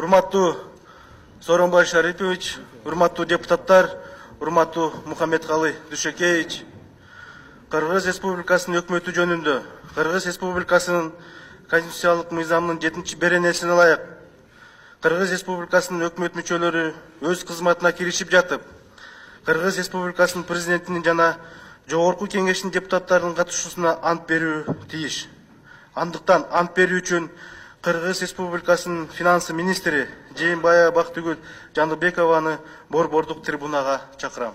Урматтуу Сооронбай Шарипович, урматтуу депутаттар, урматтуу Мухаммедкалы Дүйшөкеевич, Кыргыз Республикасынын өкмөтү жөнүндө Кыргыз Республикасынын конституциялык мыйзамынын 7-беренесине ылайык Кыргыз Республикасынын өкмөт мүчөлөрү өз кызматына киришип жатып, Кыргыз Республикасынын президентинин жана жогорку кеңештин депутаттарынын катышуусуна ант берүү тийиш. Андыктан ант берүү үчүн Кыргыз Республикасынын финансы министри Жээнбаева Бактыгүл Жаныбекованы борбордук трибунага чакырам.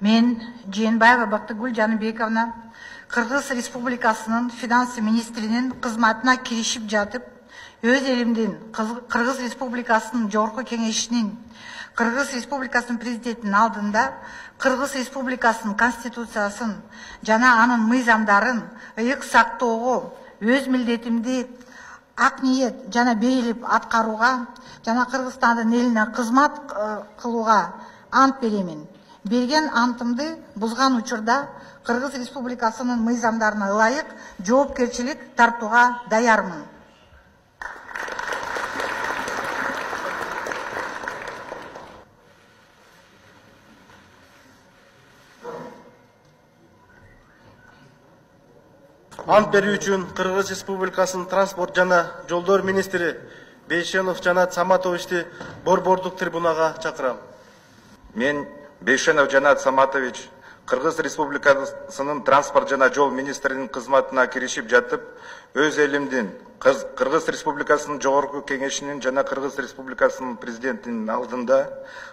Мен Жээнбаева Бактыгүл Жаныбековна Кыргыз Республикасынын финансы министринин кызматына киришип жатып, өз элимдин Кыргыз Республикасынын жогорку кеңешинин Кыргыз Республикасынын президентинин алдында Кыргыз Республикасынын конституциясын жана анын мыйзамдарын ыйык сактоого, өз милдетимди ак ниет жана бейилип аткарууга жана Кыргызстандын элине кызмат кылууга ант беремин. Берген антымды бузган учурда Кыргыз Республикасынын мыйзамдарына ылайык жоопкерчилик тартууга даярмын. Ант берүү үчүн Кыргыз Республикасынын транспорт жана жолдор министри Бейшенов Жанат Саматовичти борбордук трибунага чакырам. Мен Бейшенов Жанат Саматович Кыргыз Республикасынын транспорт жана жол министринин кызматына киришип жатып, өз элимдин Кыргыз Республикасынын жогорку кеңешинин жана Кыргыз Республикасынын президентинин алдында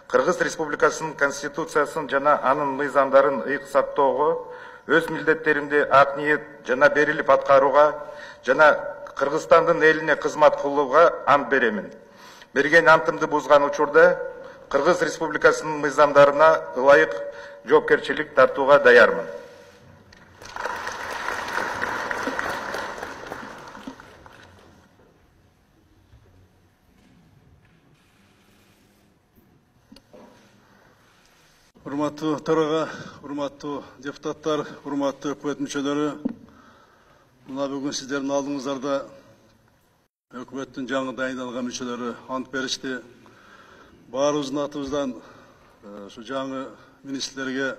Кыргыз Республикасынын конституциясын жана анын мыйзамдарын ыйык сактоого, өз милдеттеримди ак ниет жана берилип аткарууга жана Кыргызстандын элине кызмат кылууга ант беремин. Берген антымды бузган учурда Кыргыз Республикасынын мыйзамдарына ылайык жоопкерчилик тартууга даярмын. Урматтуу төрага, урматтуу депутаттар, урматтуу өкмөт мүчөлөрү, мына бүгүн сиздердин алдыңыздарда өкмөттүн жаңы дайындалган мүчөлөрү ант беришти. Баарыбыздын атыбыздан ушу жаңы министрлерге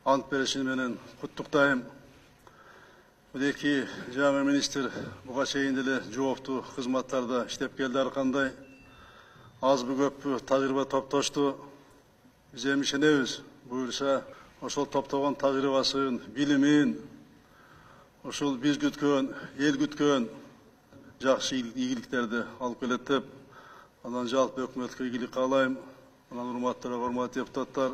ант бериши менен куттуктайм. Бул эки жаңы министр буга чейин деле жооптуу кызматтарда иштеп келди ар кандай. Азбы көппү тажрыйба топтошту. Биз эми ишенебиз, буюрса ошол топтогон тажрыйбасын, билимин, ошол биз күткөн, эл күткөн жакшы ийгиликтерди алып келет деп, анан жалпы өкмөткө ийгилик каалайм. Анан урматтуу депутаттар,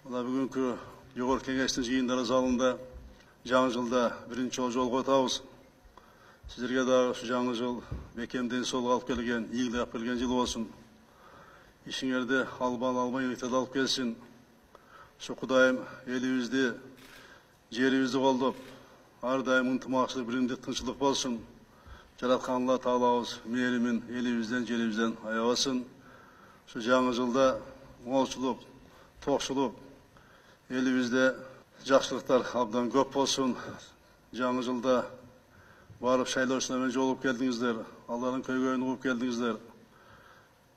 мына бүгүнкү жогорку кеңештин жыйындар залында жаңы жылда биринчи жолго өтөбүз. Сиздерге дагы ушу жаңы жыл бекем ден соолук алып келген, ийгилик алып келген жыл болсун. Ишиңерди алмай алып келсин. Ушу Кудайым элибизди, жерибизди колдоп, ар дайым ынтымакчылык, биримдик, тынччылык болсун. Жараткан Алла Таалабыз мээримин элибизден, жерибизден аябасын. Ушу жаңы жылда молчулук, токчулук, элибизде жакшылыктар абдан көп болсун. Жаңы жылда барып шайлоочулар менен жолугуп келдиңиздер, алардын көйгөйүн угуп келдиңиздер.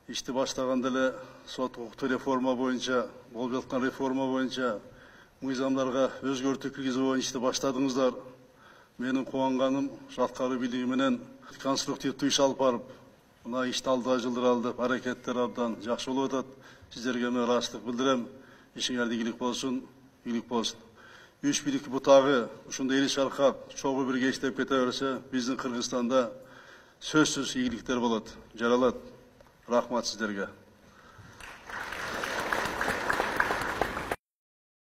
Ишти баштаганда эле сот укуктуу реформа боюнча, болуп жаткан реформа боюнча, мыйзамдарга өзгөртүү киргизүү боюнча ишти баштадыңыздар. Менин кубанганым аткаруу бийлиги менен конструктивдүү иш алып барып, мына ишти алдыга жылдыралы деп аракеттер абдан жакшы болуп атат. Сиздерге мен ыраазычтык билдирем. Ишиңерде ийгилик болсун, ийгилик болсун. Үч бийлик бутагы ушундай эл шаркап, чогуу бирге иштеп кете берсе, биздин Кыргызстанда сөзсүз ийгиликтер болот, жаралат. Рахмат сиздерге.